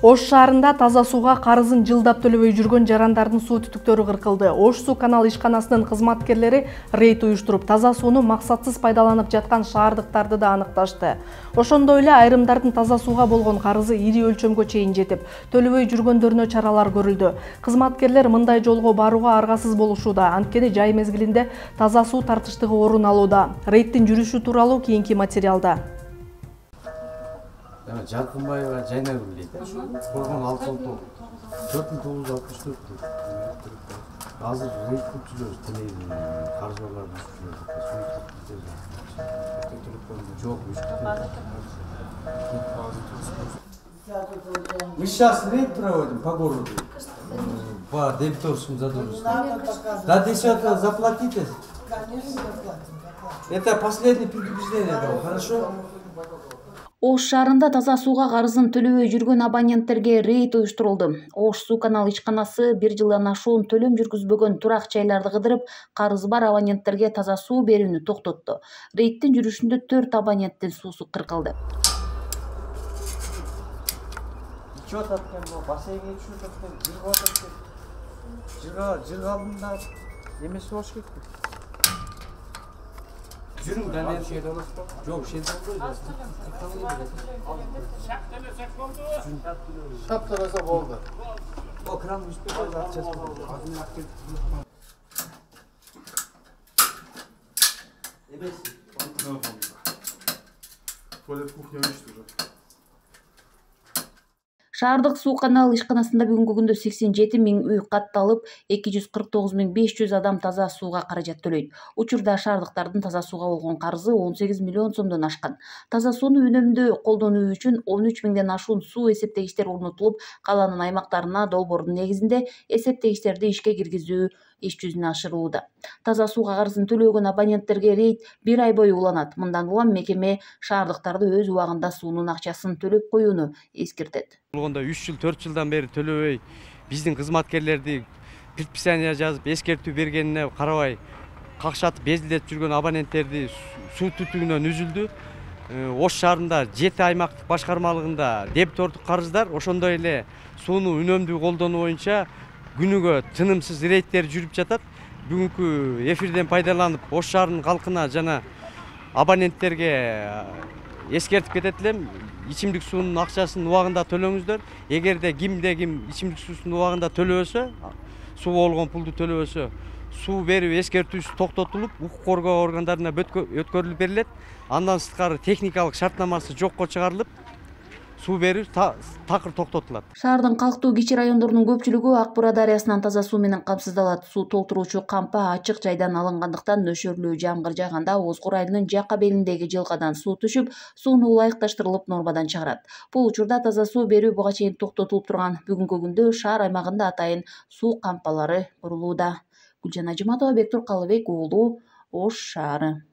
Ош шаарында таза сууга карызын жылдап төлөбөй жүргөн жарандардын суу түтүктөрү кыркылды. Ош суу канал ишканасынын кызматкерлери рейд уюштуруп, таза сууну максатсыз пайдаланып жаткан шаардыктарды да аныкташты. Ошондой эле айрымдардын таза сууга болгон карызы ири өлчөмгө чейин жетип, төлөбөй жүргөндөрүнө чаралар көрүлдү. Кызматкерлер мындай жолго барууга аргасыз болушууда, анткени жай мезгилинде таза суу тартыштыгы орун алууда. Рейдтин жүрүшү тууралуу кийинки материалда. Жаркынбаева Жайнагүл дейт. Болгон алты он төрт миң тогуз жүз алтымыш төрт. Азыр рейд күтүлөбүз, телевизион каржыларды түшүрөбүз. Мы сейчас рейд проводим по городу. По дебиторскому задолженности. До десятого заплатите. Конечно, заплатим. Это последнее предупреждение было, хорошо? Ош шаарында таза сууга карызын төлөбөй жүргөн абоненттерге рейд уюштурулду. Ош суу канал ишканасы бир жылдан ашуун төлөм жүргүзбөгөн турак жайларды кыдырып, карызы бар абоненттерге таза суу берүүнү токтотту. Рейдтин жүрүшүндө төрт абоненттин суусу кыркылды. Учет аткан, бассейнге түшүп аткан, жыргап аткан. Жырга, жырга алдында эмеси болуш керек. Жүрүң дәлел шейді олас па? Жоқ, шейді болды. Шап төлөсө болды. О, кран үстіп өз ақшасы болды. Емес? Туалет кухня өшті уже. Шаардык суу канал ишканасында бүгүнкү күндө сексен жети миң үй катталып, эки жүз кырк тогуз миң беш жүз адам таза сууга каражат төлөйт. Учурда шаардыктардын таза сууга болгон карызы он сегиз миллион сомдон ашкан. Таза сууну үнөмдүү колдонуу үчүн он үч миңден ашуун суу эсептегичтер орнотулуп, калаанын аймактарына долбоордун негизинде эсептегичтерди ишке киргизүү иш жүзүнө ашырылууда. Таза сууга карызын төлөгөн абоненттерге рейд бир ай бою уланат. Мындан улам мекеме шаардыктарды өз убагында суунун акчасын төлөп коюуну эскертет. Болгондо үч жыл төрт жылдан бери төлөбөй биздин кызматкерлерди предписание жазып эскертүү бергенине карабай какшатып безилдетип жүргөн абоненттерди суу түтүгүнөн үзүлдү. Ош шаарында жети аймактык башкармалыгында дебитордук карыздар, ошондой эле сууну үнөмдүү колдонуу боюнча күнүгө тынымсыз рейдтер жүрүп жатат. Бүгүнкү эфирден пайдаланып Ош шаарынын калкына жана абоненттерге эскертип кетет элем. Ичимдик суунун акчасын убагында төлөңүздөр. Эгерде кимде ким ичимдик суусун убагында төлөбөсө, суу болгон пулду төлөбөсө, суу берүү эскертүүсү токтотулуп, укук коргоо органдарына өткөрүлүп берилет. Андан сырткары техникалык шартнамасы жокко чыгарылып, суу берүү такыр токтотулат. Шаардын калктуу кичи райондорунун көпчүлүгү Ак Бура дарыясынан таза суу менен камсыздалат. Суу толтуруучу кампа ачык жайдан алынгандыктан нөшөрлүү жамгыр жааганда Озгор айылынын жака белиндеги жылкадан суу түшүп, сууну ылайыкташтырылып нормадан чыгарат. Бул учурда таза суу берүү буга чейин токтотулуп турган. Бүгүнкү күндө шаар аймагында атайын суу кампалары курулууда. Гүлжан Ажиматова, Бектур Калыбек уулу, Ош шаары.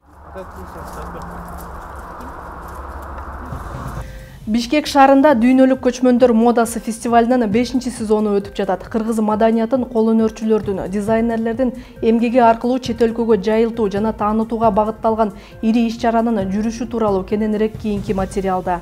Бишкек шаарында дүйнөлүк көчмөндөр модасы фестивалынын бешинчи сезону өтүп жатат. Кыргыз маданиятын, кол өнөрчүлөрдүн, дизайнерлердин эмгеги аркылуу чет өлкөгө жайылтуу жана таанытууга багытталган ири иш-чаранын жүрүшү тууралуу кененирээк кийинки материалда.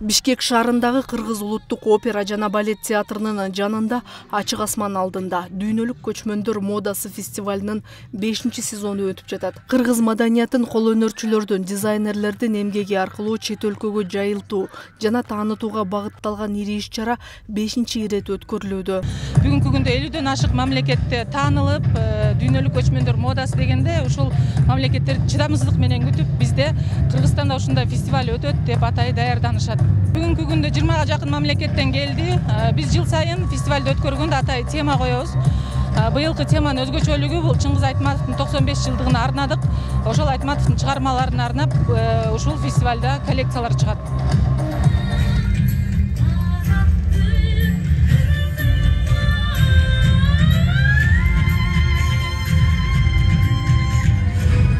Бишкек шаарындагы Кыргыз улуттук опера жана балет театрынын жанында ачык асман алдында дүйнөлүк көчмөндөр модасы фестивалынын бешинчи сезону өтүп жатат. Кыргыз маданиятын, кол өнөрчүлөрдүн, дизайнерлердин эмгеги аркылуу чет өлкөгө жайылтуу жана таанытууга багытталган ири иш-чара бешинчи ирет өткөрүлүүдө. Бүгүнкү күндө элүүдөн ашык мамлекетте таанылып, дүйнөлүк көчмөндөр модасы дегенде ушул мамлекеттер чыдамсыздык менен күтүп, бизде Кыргызстанда ушундай фестиваль өтөт деп атай даярданышат. Бүгүнкү күндө жыйырмага жакын мамлекеттен келди. Биз жыл сайын фестивалды өткөргөндө атай тема коебуз. Быйылкы теманын өзгөчөлүгү бул Чыңгыз Айтматовдун токсон беш жылдыгына арнадык. Ошол Айтматовдун чыгармаларын арнап, ушул фестивалда коллекциялар чыгат.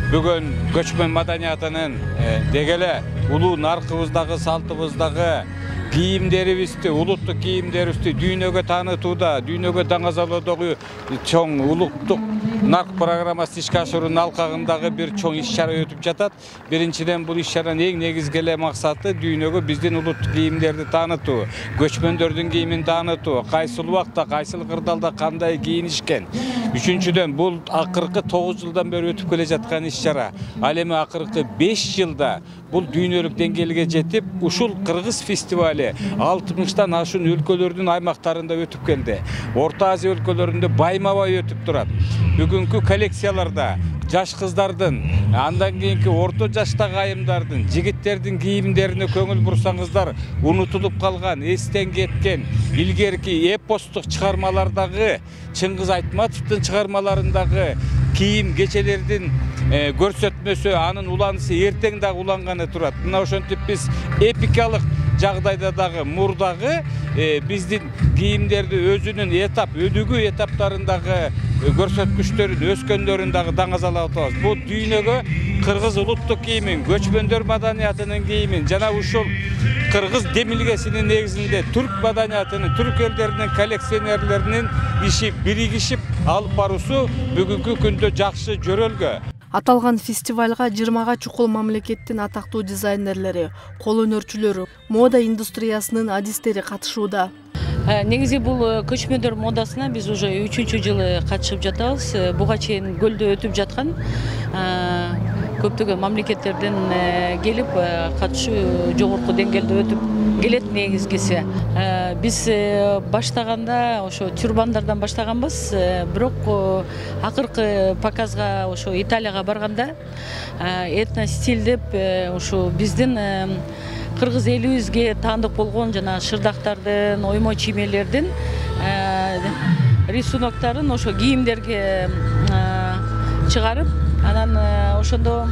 Бүгүн көчмөн маданиятынын дегеле улуу наркыбыздагы, салтыбыздагы кийимдерибизди, улуттук кийимдерибизди дүйнөгө таанытууда, дүйнөгө даңазалоодогу чоң улуттук нарк программасы ишке ашыруунун алкагындагы бир чоң иш-чара өтүп жатат. Биринчиден бул иш-чаранын эң негизги эле максаты дүйнөгө биздин улуттук кийимдерди таанытуу, көчмөндөрдүн кийимин таанытуу, кайсыл убакта, кайсыл кырдаалда кандай кийинишкен. Үчүнчүдөн бул акыркы тогуз жылдан бери өтүп келе жаткан иш-чара. Ал эми акыркы беш жылда бул дүйнөлүк деңгээлге жетип, ушул Кыргыз фестивали алтымыштан ашуун өлкөлөрдүн аймактарында өтүп келди. Орто Азия өлкөлөрүндө байма-бай өтүп турат. Бүгүнкү коллекцияларда жаш кыздардын, андан кийинки орто жаштагы айымдардын, жигиттердин кийимдерине көңүл бурсаңыздар, унутулуп калган, эстен кеткен илгерки эпостук чыгармалардагы, Чыңгыз Айтматовдун чыгармаларындагы кийим кечелердин көрсөтмөсү, анын уланышы эртең дагы уланганы турат. Мына ошентип биз эпикалык жагдайда дагы мурдагы биздин кийимдерди өзүнүн этап, өнүгүү этаптарындагы көрсөткүчтөрүн, өскөндөрүн дагы даңазалап атабыз. Бул дүйнөгө Кыргыз улуттук кийимин, көчмөндөр маданиятынын кийимин жана ушул Кыргыз демилгесинин негизинде түрк маданиятынын, түрк элдеринин коллекционерлеринин иши биригишип алып баруусу бүгүнкү күндө жакшы жөрөлгө. Аталган фестивалга жыйырмага чукул мамлекеттин атактуу дизайнерлери, кол өнөрчүлөрү, мода индустриясынын адистери катышууда. Негизи бул көчмөндөр модасына биз уже үчүнчү жылы катышып жатабыз. Буга чейин көлдө өтүп жаткан көптөгөн мамлекеттерден келип катышуу жогорку деңгээлде өтүп келет негизгиси. Биз баштаганда ошо тюрбандардан баштаганбыз, бирок акыркы показга ошо Италияга барганда этно стиль деп ошо биздин Кыргыз элибизге таандык болгон жана шырдактардын, оймо чиймелердин рисуноктарын ошо кийимдерге чыгарып, анан ошондо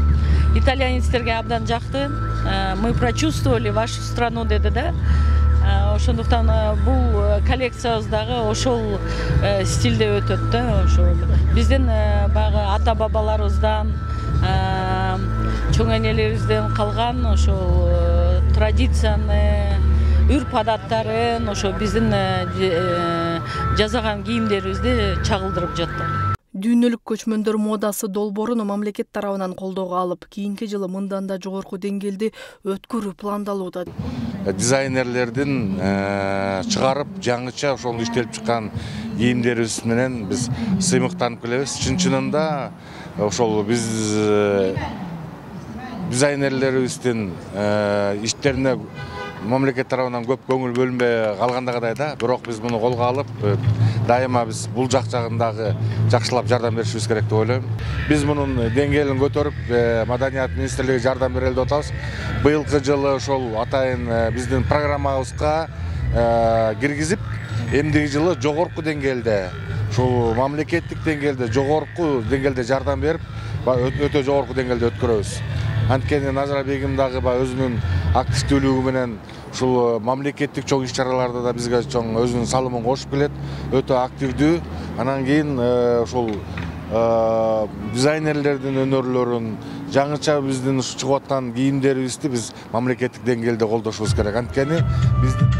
итальянецтерге абдан жакты. Мы прочувствовали вашу страну деди да. Ошондуктан бул коллекциябыздагы ошол стилде өтөт да. Ошо биздин баягы ата бабаларыбыздан, чоң энелерибизден калган ошол традицияны, үрп адаттарын ошо биздин жасаган кийимдерибизди чагылдырып жатты. Дүйнөлүк көчмөндөр модасы долбоорун мамлекет тарабынан колдоого алып, кийинки жылы мындан да жогорку деңгээлде өткөрүү пландалууда. Дизайнерлердин чыгарып, жаңыча ошол иштелип чыккан кийимдерибиз менен биз сыймыктанып келебиз. Чын-чынында ошол биз дизайнерлерибиздин иштерине мамлекет тарабынан көп көңүл бөлүнбөй калгандагыдай да, бирок биз муну колго алып, дайыма биз бул жак жагындагы жакшылап жардам беришибиз керек деп ойлойм. Биз мунун деңгээлин көтөрүп, Маданият министрлиги жардам берели деп атабыз. Быйылкы жылы ошол атайын биздин программабызга киргизип, эмдиги жылы жогорку деңгээлде, ушул мамлекеттик деңгээлде, жогорку деңгээлде жардам берип, өтө жогорку деңгээлде өткөрөбүз. Анткени Назира бегим дагы өзүнүн активдүүлүгү менен ушул мамлекеттик чоң иш-чараларда да бизге чоң өзүнүн салымын кошуп келет, өтө активдүү. Анан кийин ушул дизайнерлердин өнөрлөрүн, жаңыча биздин чыгып аткан кийимдерибизди биз мамлекеттик деңгээлде колдошубуз керек. Анткени биздин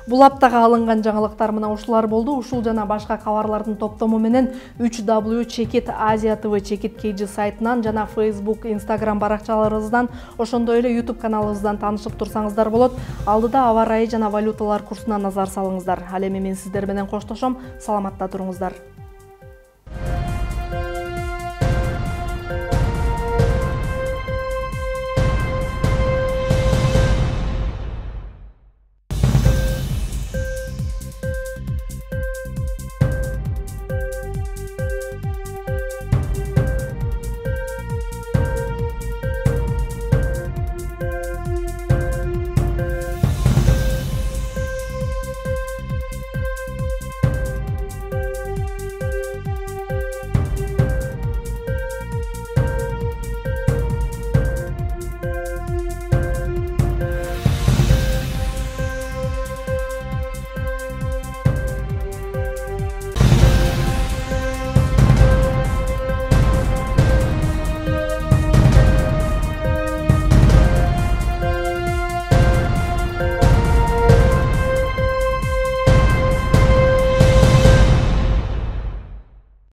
Бул аптага алынган жаңылыктар мына ушулар болду. Ушул жана башка кабарлардын топтому менен үч дабл ю чекит азия тэ вэ чекит кей жи сайтынан жана Facebook, Instagram баракчаларыбыздан, ошондой эле YouTube каналыбыздан таанышып турсаңыздар болот. Алдыда аба ырайы жана валюталар курсуна назар салыңыздар. Ал эми мен сиздер менен коштошом. Саламатта туруңуздар.